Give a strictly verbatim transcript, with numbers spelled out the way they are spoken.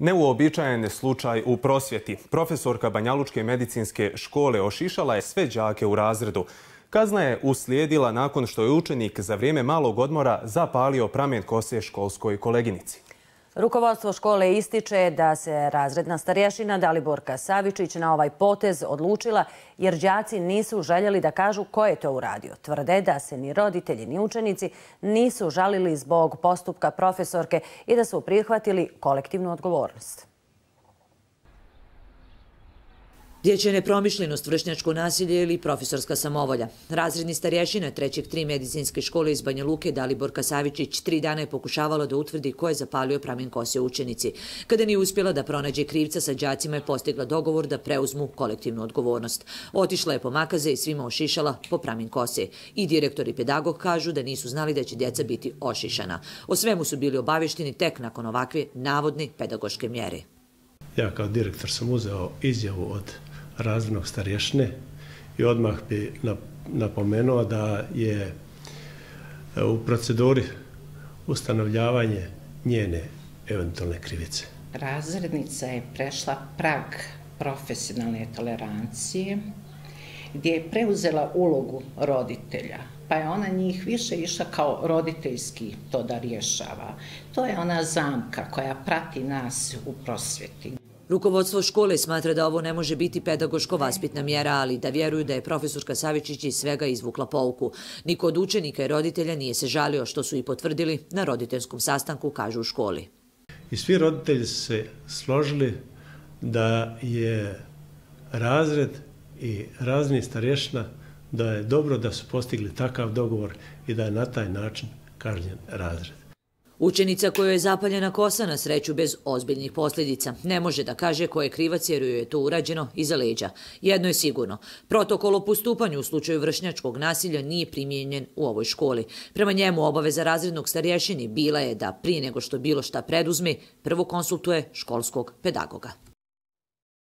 Neuobičajen slučaj u prosvjeti. Profesorka Banjalučke medicinske škole ošišala je sve đake u razredu. Kazna je uslijedila nakon što je učenik za vrijeme malog odmora zapalio pramen kose školskoj koleginici. Rukovodstvo škole ističe da se razredna starješina Daliborka Savičić na ovaj potez odlučila jer đaci nisu željeli da kažu ko je to uradio. Tvrde da se ni roditelji ni učenici nisu žalili zbog postupka profesorke i da su prihvatili kolektivnu odgovornost. Dječja nepromišljenost, vršnjačko nasilje ili profesorska samovolja. Razredni starješina trećeg tri medicinske škole iz Banja Luke Daliborka Savičić tri dana je pokušavala da utvrdi ko je zapalio pramen kose učenici. Kada nije uspjela da pronađe krivca, sa đacima je postigla dogovor da preuzmu kolektivnu odgovornost. Otišla je po makaze i svima ošišala po pramen kose. I direktor i pedagog kažu da nisu znali da će djeca biti ošišana. O svemu su bili obavješteni tek nakon ovakve navodne pedagoške mjere. Ja kao direktor sam uzeo izjavu od razrednog starješine i odmah bi napomenuo da je u proceduri ustanovljavanje njene eventualne krivice. Razrednica je prešla prag profesionalne tolerancije gdje je preuzela ulogu roditelja, pa je ona njih više išla kao roditeljski to da rješava. To je ona zamka koja prati nas u prosvjeti. Rukovodstvo škole smatra da ovo ne može biti pedagoško-vaspitna mjera, ali da vjeruju da je profesorka Savičić iz svega izvukla pouku. Niko od učenika i roditelja nije se žalio, što su i potvrdili na roditeljskom sastanku, kažu u školi. I svi roditelji su se složili da je razred i razredni starješina, da je dobro da su postigli takav dogovor i da je na taj način kažnjen razred. Učenica kojoj je zapaljena kosa, na sreću bez ozbiljnih posljedica, ne može da kaže ko je krivac jer joj je to urađeno iza leđa. Jedno je sigurno, protokol o postupanju u slučaju vršnjačkog nasilja nije primijenjen u ovoj školi. Prema njemu obaveza razrednog starješini bila je da prije nego što bilo šta preduzme, prvo konsultuje školskog pedagoga.